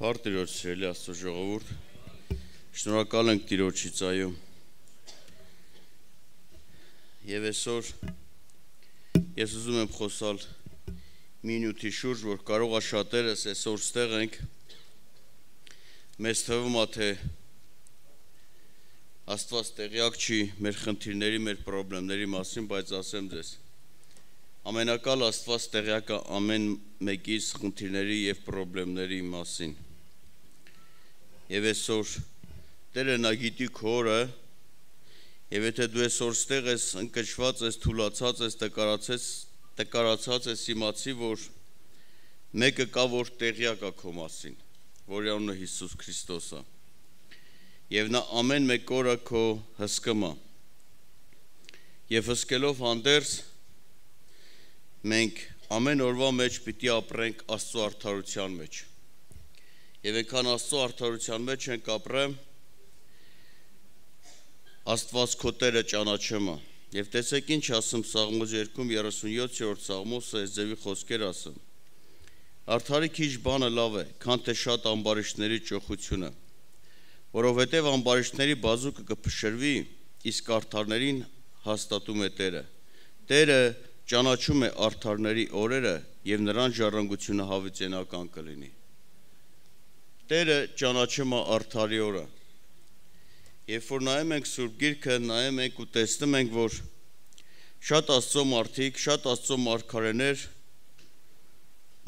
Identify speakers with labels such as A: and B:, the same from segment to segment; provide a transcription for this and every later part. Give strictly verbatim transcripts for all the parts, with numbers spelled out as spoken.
A: Փառք Տիրոջ, սիրելի Աստծո ժողովուրդ, շնորհակալ ենք Տիրոջից, այո։ Եվ այսօր ես ուզում եմ խոսալ մի նյութի շուրջ, որ կարող է շատերս այսօր ստեղ ենք, մեզ թվում է, թե Աստված տեղյակ չի մեր խնդիրների, մեր խնդիրների մասին, բայց ասեմ ձեզ, ամենակալ Աստված տեղյակ է ամեն մեկիս խնդիրների և խնդիրների մասին։ Եվ այսօր Տերը նա գիտի քո օրը, եւ եթե դու այսօր ստեղ ես, ընկճված ես, թուլացած ես, տկարացած ես, իմացի, որ մեկը կա, որ տեղյակ է քո մասին, որի անունը Հիսուս Քրիստոս է։ Եվ նա ամեն մեկ օրը քո հսկում է։ Եվ հսկելով հանդերձ մենք ամեն օրվա մեջ պիտի ապրենք Աստծո արդարության մեջ։ Եվ այնքան Աստծո արդարության մեջ ենք ապրեմ, Աստված քո Տերը ճանաչում է։ Եվ տեսեք ինչ ասում Սաղմոս երկում երեսունյոթերորդ Սաղմոսը այս ձևի խոսքեր ասում. Արդարի քիչ բանը լավ է, քան թե շատ ամբարիշտների ճոխությունը, որովհետև ամբարիշտների բազուկը կփշրվի, իսկ արդարներին հաստատում է Տերը։ Տերը ճանաչում է արդարների օրերը եւ նրանց ժառանգությունը հավիտենական կլինի։ Տերը ճանաչում է արդարի օրը։ Երբ որ նայում ենք Սուրբ Գիրքը, նայում ենք ու տեսնում ենք, որ շատ Աստծո մարդիկ, շատ Աստծո մարգարեներ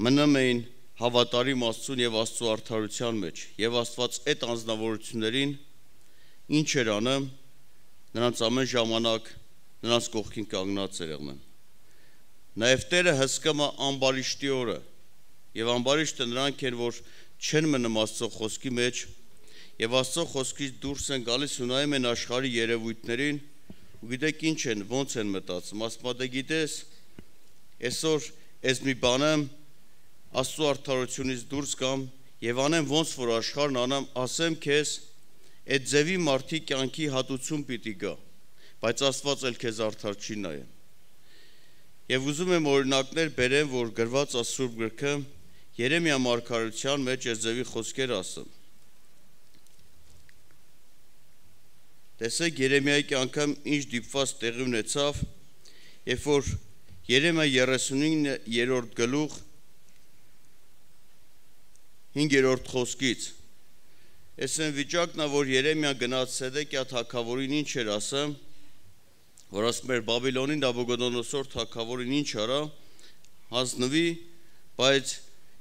A: մնում էին հավատարիմ Աստծուն եւ Աստծո արդարության մեջ, եւ Աստված այդ անձնավորություններին ինչ էր անում, նրանց ամեն ժամանակ նրանց կողքին կանգնած էր եղնում։ Նաև Տերը հսկում է ամբարիշտի օրը, եւ ամբարիշտը նրանք են, որ չեն մնում Աստծո խոսքի մեջ, եւ Աստծո խոսքից դուրս են գալիս ու նայում են աշխարհի երևույթներին, ու գիտեք ինչ են, ոնց են մտածում, ասում դե գիտես, այսօր այս մի բանը Աստծո արդարությունից դուրս կամ եւ անեմ ոնց որ աշխարհն անամ, ասեմ քեզ, այդ ձևի մարդի կյանքի հատուցում պիտի գա, բայց Աստված էլ քեզ արդար չի նայում։ Եվ ուզում եմ օրինակներ բերեմ, որ գրված է Սուրբ Գրքը, Երեմիա մարգարեության մեջ այս ձևի խոսքեր ասում։ Տեսեք Երեմիայի կյանքում ինչ դիպված տեղի ունեցավ, երբ որ Երեմիա երեսունիններորդ գլուխ հինգերորդ խոսքից։ Այս այն վիճակն է, որ Երեմիա գնաց Սեդեկիա թագավորին ինչ էր ասում, որ ասում էր Բաբիլոնի Նաբուգոդոնոսոր թագավորին ինչ արա, հանձնվի, բայց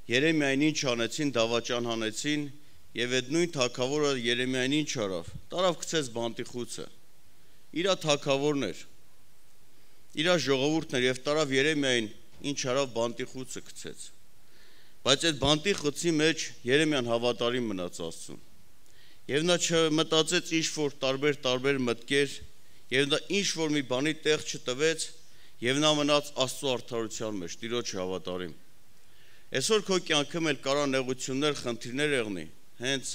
A: Երեմիային ինչ անեցին, դավաճան հանեցին, եւ այդ նույն թագավորը Երեմիային ինչ արավ, տարավ գցեց բանտիխուցը։ Իրա թագավորն էր, իրա ժողովուրդն էր, եւ տարավ Երեմիային ինչ արավ, բանտիխուցը գցեց։ Բայց այդ բանտիխուցի մեջ Երեմիան հավատարիմ մնաց Աստծուն։ Եվ նա չմտածեց ինչ որ տարբեր տարբեր մտքեր, եւ նա ինչ որ մի բանի տեղ չտվեց, եւ նա մնաց Աստծո արդարության մեջ, Տիրոջ հավատարիմ։ Այսօր քո կյանքում էլ կարա նեղություններ, խնդիրներ եղնի, հենց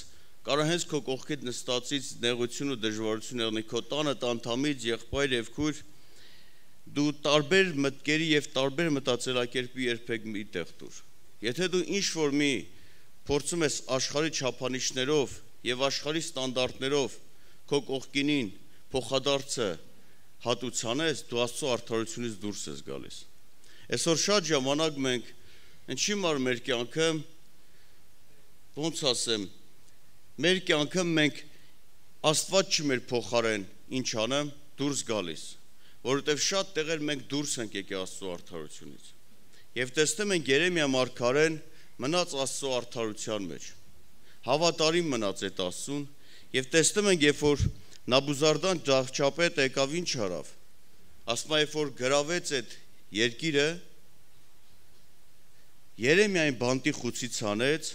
A: կարա հենց քո կողքիդ նստածից նեղություն ու դժվարություն եղնի, քո տանը անդամից, եղբայր եւ քույր, դու տարբեր մտքերի եւ տարբեր մտածելակերպի երբեք մի տեղ դուր։ Եթե դու ինչ որ մի փորձում ես աշխարհի չափանիշներով եւ աշխարհի ստանդարտներով քո կողքինին փոխադարձը հատուցանես, դու Աստծո արդարությունից դուրս ես գալիս։ Այսօր շատ ժամանակ մենք ինչի մար մեր կյանքը, ոնց ասեմ, մեր կյանքը մենք Աստված չի մեր փոխարեն ինչ անեմ, դուրս գալիս, որովհետև շատ տեղեր մենք դուրս ենք եկել Աստծո արդարությունից։ Եվ տեսնում ենք Երեմիա մարգարեն մնաց Աստծո արդարության մեջ, հավատարիմ մնաց այդ Աստծուն, եւ տեսնում ենք, երբ որ Նաբուզարդան ջահճապետը եկավ ինչ արավ, ասում է, երբ որ գրավեց այդ երկիրը, Երեմիային բանտիխուցից հանեց,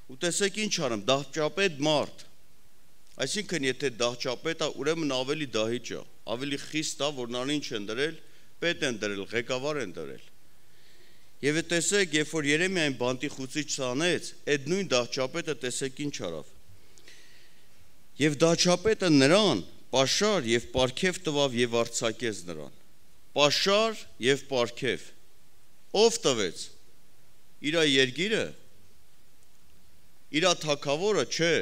A: ու տեսեք ինչ արում, դահճապետ մարդ, այսինքն եթե դահճապետը ուրեմն ավելի դահիճ է, ավելի խիստ է, որ նրան ինչ են դրել, պետ են դրել, ղեկավար են դրել։ Եվ տեսեք, երբ որ Երեմիային բանտիխուցից հանեց, այդ նույն դահճապետը տեսեք ինչ արավ։ Եվ դահճապետը նրան պաշար եւ պարգև տվավ եւ արձակեց նրան։ Պաշար եւ պարգև։ Ով տվեց։ Իր երկիրը իր թագավորը չէ,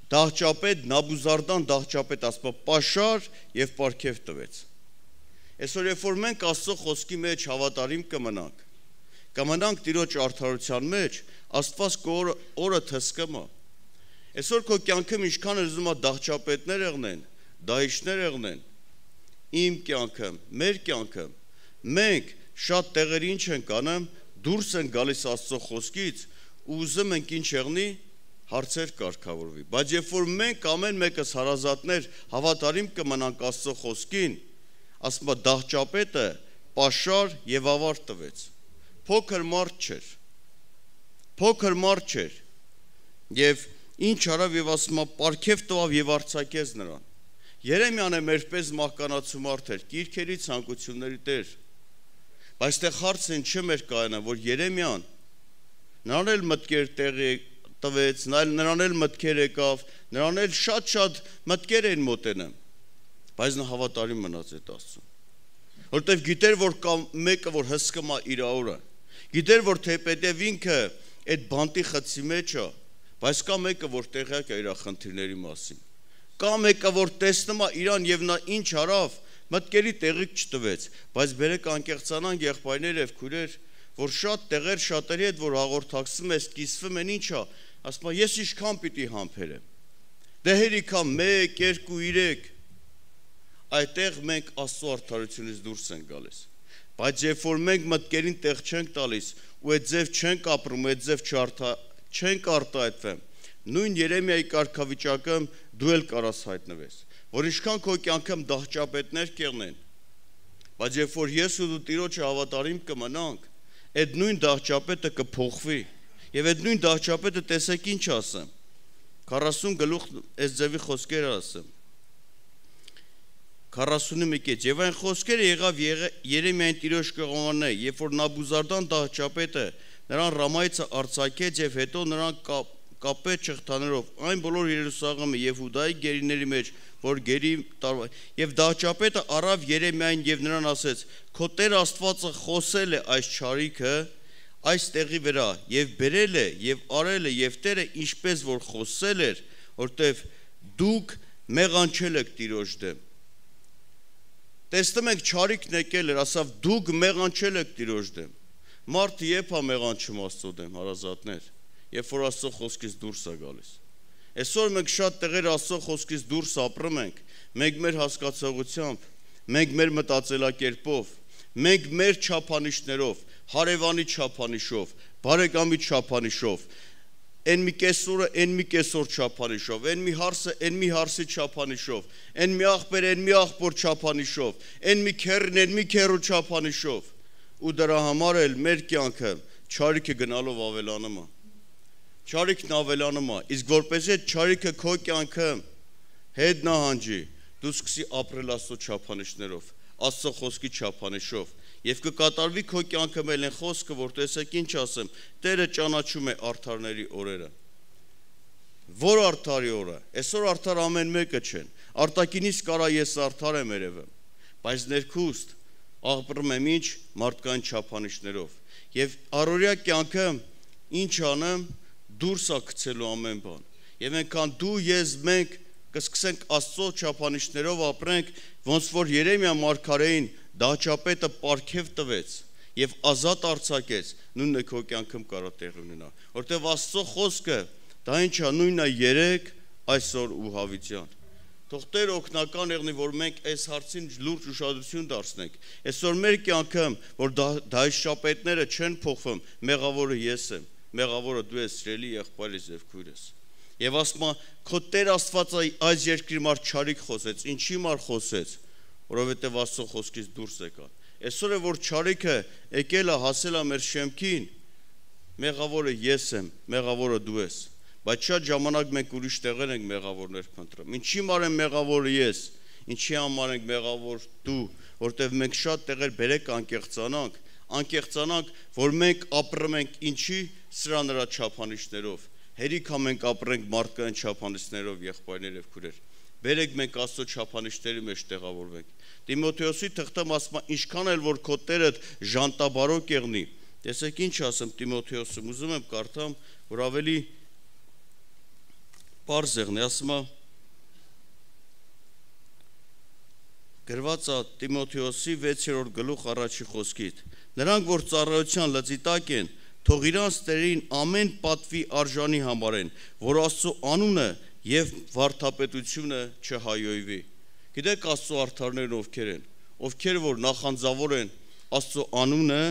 A: դահճապետ Նաբուզարդան դահճապետ ասպա պաշար եւ պարգև տվեց։ Այսօր երբ որ մենք Աստծո խոսքի մեջ հավատարիմ կմնանք, կմնանք Տիրոջ արդարության մեջ, Աստված կօրը օրը թսկմա։ Այսօր քո կյանքում ինչքան էլ ուզում ա դահճապետներ եղնեն, դահիճներ եղնեն, իմ կյանքում, մեր կյանքում, մենք շատ տեղերի ինչ ենք անում, դուրս են գալիս Աստծո խոսքից ու ուզում ենք ինչ եղնի, հարցեր կարգավորվի, բայց երբ որ մենք ամեն մեկս հարազատներ հավատարիմ կմնանք Աստծո խոսքին, ասում է դահճապետը պաշար եւ ավարտ տվեց։ Փոքր մարդ չէր։ Փոքր մարդ չէր։ Եվ ինչ արավ եւ ասում է պարգև տվավ եւ արձակեց նրան։ Երեմիան է մերպես մահկանացու մարդ էր, կիրքերի ցանկությունների տեր։ Բայց այդտեղ հարցն չէ մեր կայանա, որ Երեմիան նրան էլ մտքեր տեղի տվեց, նրան էլ մտքեր եկավ, նրան էլ շատ-շատ մտքեր էին մոտենում, բայց նա հավատարիմ մնաց այդ Աստծուն, որտեվ գիտեր, որ կա մեկը, որ հսկում է իր օրը, գիտեր, որ թեպետև ինքը այդ բանտի խցի մեջ է, բայց կա մեկը, որ տեղյակ է իր խնդիրների մասին, կա մեկը, որ տեսնում է իրան եւ նա ինչ արավ, մտքերի տեղիք չտվեց, բայց բերեք անկեղծանանք եղբայրներ եւ քույրեր, որ շատ տեղեր շատերի հետ որ հաղորդակցում ես, կիսվում են ինչա, ասում ես ինչքան պիտի համբերեմ։ Դե հերիքա մեկ, երկու, երեք, այդտեղ մենք Աստծո արդարությունից դուրս ենք գալիս։ Բայց երբ որ մենք մտքերին տեղ չենք տալիս ու այդ ձև չենք ապրում, այդ ձև չենք արտահայտվում, նույն Երեմիայի կարգավիճակում դու էլ կարաս հայտնվես, որ ինչքան քո կյանքում դահճապետներ կեղնեն, բայց երբ որ ես ու դու Տիրոջը հավատարիմ կմնանք, այդ նույն դահճապետը կփոխվի, եւ այդ նույն դահճապետը տեսեք ինչ ասեմ, քառասուն գլուխ այս ձևի խոսքերը ասեմ, քառասունը կետ, եւ այն խոսքերը եղավ Երեմիային Տիրոջ կողմանը, երբ որ Նաբուզարդան դահճապետը նրան Ռամայից արձակեց եւ հետո նրան կապեց չղթաներով, այն բոլոր Երուսաղեմը եւ Հուդայի գերիների մեջ, որ գերի տարվա, եւ դահճապետը առավ Երեմիային եւ նրան ասեց. «Քո Տեր Աստվածը խոսել է այս չարիքը այս տեղի վրա եւ բերել է եւ արել է եւ Տերը ինչպես որ խոսել էր, որտեվ դուք մեղանչել եք Տիրոջ դեմ»։ Տեսնում եք չարիքն եկել էր, ասավ դուք մեղանչել եք Տիրոջ դեմ։ Մարդը երբ է մեղանչում Աստծո դեմ, հարազատներ, երբ որ Աստծո խոսքից դուրս է գալիս։ Այսօր մենք շատ տեղեր Աստծո խոսքից դուրս ապրում ենք, մենք մեր հասկացողությամբ, մենք մեր մտածելակերպով, մենք մեր չափանիշներով, հարևանի չափանիշով, բարեկամի չափանիշով, այն մի կեսորը, այն մի կեսոր չափանիշով, այն մի հարսը, այն մի հարսի չափանիշով, այն մի աղբեր, այն մի աղբոր չափանիշով, այն մի քերն, այն մի քերու չափանիշով, ու դրա համար էլ մեր կյանքը չարիքը գնալով ավելանում է։ Չարիքն ավելանում է, իսկ որպեսզի այդ չարիքը քո կյանքում հետ նահանջի, դու սկսի ապրել Աստծո չափանիշներով, Աստծո խոսքի չափանիշով, եւ կկատարվի քո կյանքում էլ այն խոսքը, որ տեսեք ինչ ասեմ, Տերը ճանաչում է արդարների օրերը։ Որ արդարի օրը, այսօր արդար ամեն մեկը չեն, արտակինից կարա ես արդար եմ երևում, բայց ներքուստ ապրում եմ ինչ մարդկային չափանիշներով, եւ առօրյա կյանքում ինչ անեմ, դուրս է գցելու ամեն բան, եւ այնքան դու, ես, մենք կսկսենք Աստծո չափանիշներով ապրենք, ոնց որ Երեմիա մարգարեին դահճապետը պարգև տվեց եւ ազատ արձակեց, նույնն է քո կյանքում կարա տեղ ունենա, որտեվ Աստծո խոսքը դա ինչ է, նույնն է երեք, այսօր ու հավիտյան։ Թող Տեր օգնական եղնի, որ մենք այս հարցին լուրջ ուշադրություն դարձնենք։ Այսօր մեր կյանքում, որ դահճապետները չեն փոխվում, մեղավորը ես եմ, մեղավորը դու ես, սիրելի եղբայրս եւ քույրս։ Եվ ասում է, քո Տեր Աստվածը այս երկրի մար չարիք խոսեց, ինչի մար խոսեց, որովհետեւ Աստծո խոսքից դուրս եկա։ Այսօր է որ չարիքը եկել է, հասել է մեր շեմքին, մեղավորը ես եմ, մեղավորը դու ես։ Բայց շատ ժամանակ մենք ուրիշ տեղեր ենք մեղավորներ փնտրում։ Ինչի մար եմ մեղավորը ես, ինչի համար ենք մեղավոր դու, որտեվ մենք շատ տեղեր բերեք անկեղծանանք, անկեղծանանք, որ մենք ապրում ենք ինչի սրա նրա չափանիշներով։ Հերիքա մենք ապրենք մարդկային չափանիշներով, եղբայրներ եւ քույրեր։ Բերեք մենք Աստծո չափանիշների մեջ տեղավորվենք։ Տիմոթեոսի թղթում ասում է, ինչքան էլ որ քո Տերը ժանտաբարոկ եղնի, Տեսեք ինչ ասեմ Տիմոթեոսում, ուզում եմ կարդամ, որ ավելի պարզ եղնի, ասում է գրված է Տիմոթեոսի վեցերորդ գլուխ առաջի խոսքից. նրանք, որ ծառայության լծի տակ են, թող իրանց տերերին ամեն պատվի արժանի համարեն, որ Աստծո անունը եւ վարդապետությունը չհայոյվի։ Գիտեք Աստծո արդարներն ովքեր են, ովքեր որ նախանձավոր են Աստծո անունը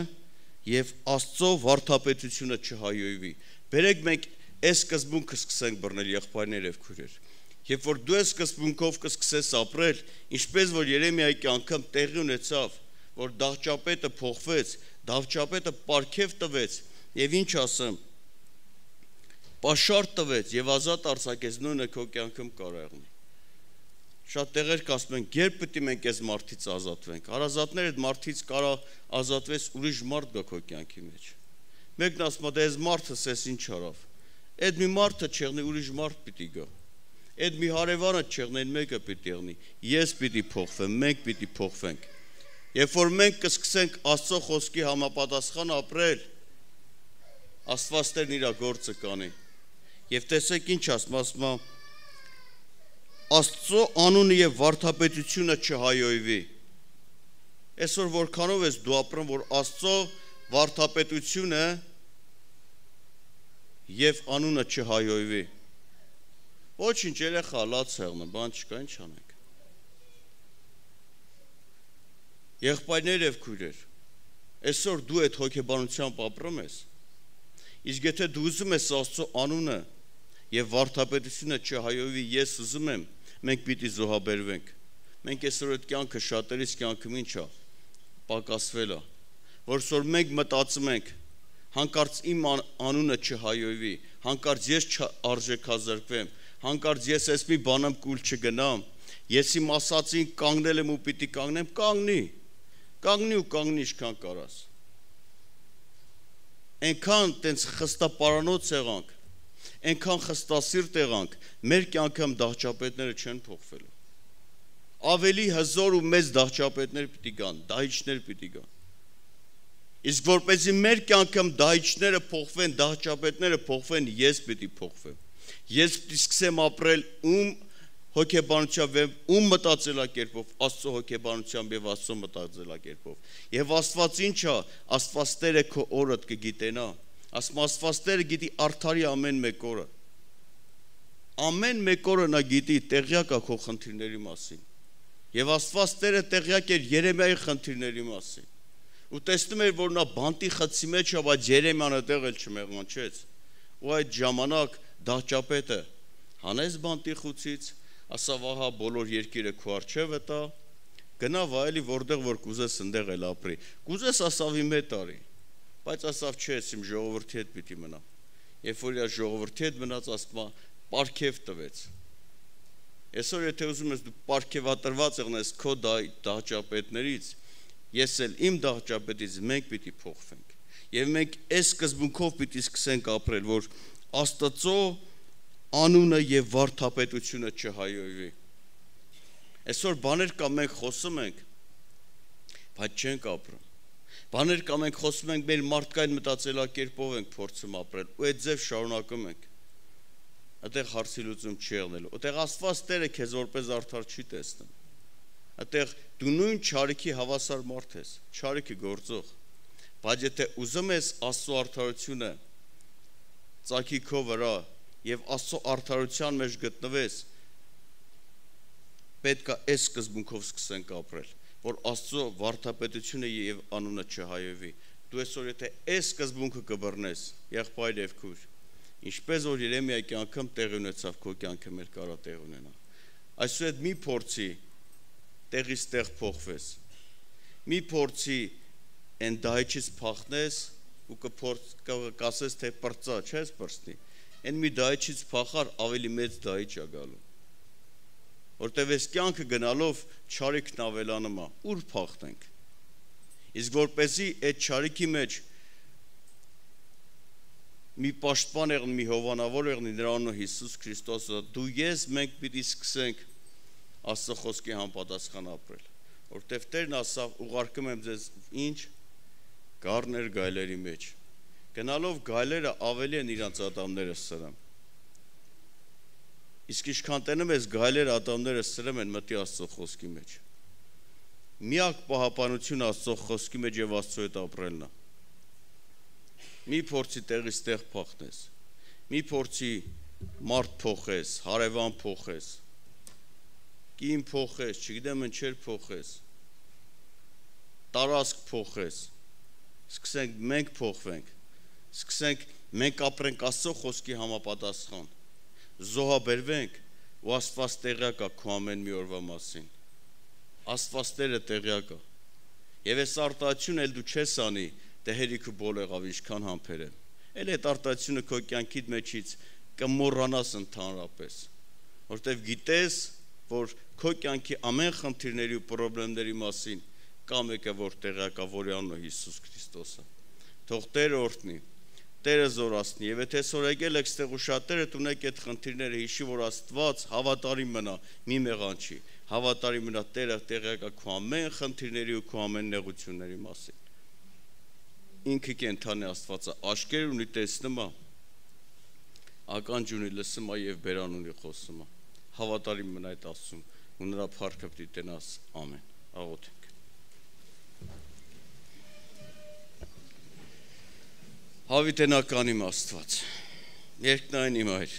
A: եւ Աստծո վարդապետությունը չհայոյվի։ Բերեք մենք այս սկզբունքը սկսենք բռնել եղբայրներ եւ քույրեր։ Երբ որ դու այս սկզբունքով կսկսես ապրել, ինչպես որ Երեմիայի կյանքում տեղի ունեցավ, որ դահճապետը փոխվեց, դահճապետը պարգև տվեց եւ ինչ ասեմ, պաշար տվեց եւ ազատ արձակեց, նույնը քո կյանքում կարող է եղնի։ Շատ տեղեր կասում են, երբ պետք է մենք այս մարդից ազատվենք։ Հարազատները այդ մարդից կարող ազատվես ուրիշ մարդ գա քո կյանքի մեջ։ Մեկն ասում է, դե այս մարդը սես ինչ արավ։ Այդ մի մարդը չեղնի, ուրիշ մարդ պիտի գա։ Այդ մի հարևանը չեղնի, այն մեկը պիտի եղնի։ Ես պիտի փոխվեմ, մենք պիտի փոխվենք։ Երբ որ մենք կսկսենք Աստծո խոսքի համապատասխան ապրել, Աստված Տերն իր գործը կանի։ Եվ տեսեք ինչ ասում, ասում է Աստծո անունը եւ վարդապետությունը չհայոյվի։ Այսօր որքանով ես դու ապրում, որ Աստծո վարդապետությունը եւ անունը չհայոյվի։ Ոչինչ, երեխա լաց եղնը, բան չկա, ինչ անենք։ Եղբայրներ եւ քույրեր, այսօր դու այդ հոգեբանությամբ ապրում ես։ Իսկ եթե դու ուզում ես Աստծո անունը եւ վարդապետությունը չհայոյվի, ես ուզում եմ, մենք պիտի զոհաբերվենք։ Մենք այսօր այդ կյանքը շատերիս կյանքում ինչ է, պակասվել է, որսոր մենք մտածում ենք, հանկարծ իմ անունը չհայոյվի, հանկարծ ես չարժեքազրկվեմ, հանկարծ ես ես մի բանամ կուլ չգնամ, ես իմ ասածին կանգնել եմ ու պիտի կանգնեմ, կանգնի, կանգնի ու կանգնի ինչքան կարաս։ Այնքան տենց խստապարանոց եղանք, այնքան խստասիրտ եղանք, մեր կյանքում դահճապետները չեն փոխվելու։ Ավելի հզոր ու մեծ դահճապետներ պիտի գան, դահիճներ պիտի գան։ Իսկ որպեսզի մեր կյանքում դահիճները փոխվեն, դահճապետները փոխվեն, ես պիտի փոխվեմ։ Ես պիտի սկսեմ ապրել ում հոգեբանությամբ եւ ում մտածելակերպով, Աստծո հոգեբանությամբ եւ Աստծո մտածելակերպով։ Եվ Աստված ինչ է, Աստված Տերը քո օրդ կգիտենա։ Ասում Աստված Տերը գիտի արդարի ամեն մեկ օրը։ Ամեն մեկ օրը նա գիտի, տեղյակ է քո խնդիրների մասին։ Եվ Աստված Տերը տեղյակ էր Երեմիայի խնդիրների մասին։ Ու տեսնում էր, որ նա բանտի խցի մեջ է, բայց Երեմիան այդտեղ էլ չմեղանչեց։ Ու այդ ժամանակ դահճապետը հանեց բանտի խուցից, ասավ ահա բոլոր երկիրը քո առջևը տա, գնա վայելի որտեղ որ կուզես ընդեղ էլ ապրի։ Կուզես ասավ իմ հետ արի, բայց ասավ չէ, իմ ժողովրդի հետ պիտի մնա։ Երբ որ իր ժողովրդի հետ մնաց, ասма պարգև տվեց։ Այսօր եթե ուզում ես դու պարգևատրված եղնես քո դահճապետներից, ես էլ իմ դահճապետից մենք պիտի փոխվենք։ Եվ մենք այս սկզբունքով պիտի սկսենք ապրել, որ Աստծո անունը եւ վարդապետությունը չհայոյվի։ Այսօր բաներ կա մենք խոսում ենք, բայց չենք ապրում։ Բաներ կա մենք խոսում ենք, մեր մարդկային մտածելակերպով ենք փորձում ապրել, ու այդ ձև շարունակում ենք։ Այդտեղ հարցի լուծում չի եղնելու։ Այդտեղ Աստված Տերը քեզ որպես արդար չի տեսնում։ Այդտեղ դու նույն չարիքի հավասար մարդ ես, չարիքի գործող։ Բայց եթե ուզում ես Աստծո արդարությունը ծագի քո վրա եւ Աստծո արդարության մեջ գտնվես, պետք է այս սկզբունքով սկսենք ապրել, որ Աստծո վարդապետությունը եւ անունը չհայոյվի։ Դու այսօր եթե այս սկզբունքը կբռնես, եղբայր եւ քույր, ինչպես որ Երեմիայի կյանքում տեղի ունեցավ, քո կյանքում էլ կարա տեղ ունենա։ Այսօր այդ մի փորձի տեղից տեղ փոխվես։ Մի փորձի այն դահիճից փախնես ու կասես թե պրծա, չես պրծնի։ Այն մի դահիճից փախար ավելի մեծ դահիճ է գալու։ Որտեւ այս կյանքը գնալով չարիքն ավելանում է, ուր փախնենք։ Իսկ որպեսզի այդ չարիքի մեջ մի պաշտպան եղնի, մի հովանավոր եղնի, նրա անունը Հիսուս Քրիստոսը, դու ես մենք պիտի սկսենք Աստծո խոսքի համապատասխան ապրել, որտեվ Տերն ասավ, ուղարկում եմ ձեզ ինչ գառներ գայլերի մեջ։ Գնալով գայլերը ավելի են իրանց ատամները սրում։ Իսկ ինչքան տենում ես գայլերը ատամները սրում են մտի Աստծո խոսքի մեջ։ Միակ պահապանություն Աստծո խոսքի մեջ եւ Աստծո հետ ապրելն է։ Մի փորձի տեղից տեղ փախնես։ Մի փորձի մարդ փոխես, հարևան փոխես։ Կին փոխես, չգիտեմ ինչեր փոխես։ Տարածք փոխես։ Սկսենք մենք փոխվենք։ Սկսենք մենք ապրենք Աստծո խոսքի համապատասխան։ Զոհաբերվենք ու Աստված տեղյակ է քո ամեն մի օրվա մասին։ Աստված Տերը տեղյակ է։ Եվ այս արտահայտությունը էլ դու չես անի, դե հերիքը բոլ եղավ ինչքան համբեր եմ։ Էլ այդ արտահայտությունը քո կյանքիդ մեջից կմոռանաս ընդհանրապես, որտեվ գիտես, որ քո կյանքի ամեն խնդիրների ու խնդիրների մասին կա մեկը, որ տեղյակ է, որի անունը Հիսուս Քրիստոսը։ Թող Տերը օրհնի, Տերը զորացնի, եւ եթե այսօր եկել եք ստեղ ու շատերը ունեք այդ խնդիրները, հիշի, որ Աստված հավատարիմ մնա, մի մեղանչի, հավատարիմ մնա, Տերը տեղյակ է քո ամեն խնդիրների ու քո ամեն նեղությունների մասին։ Ինքը կենթանի Աստվածը աչքեր ունի, տեսնում է, ականջ ունի, լսում է եւ բերան ունի, խոսում է։ Հավատարիմ մնա այդ Աստծուն ու նրա փառքը պիտի տենաս։ Ամեն։ Աղոթենք։ Հավիտենական իմ Աստված, երկնային իմ Հայր,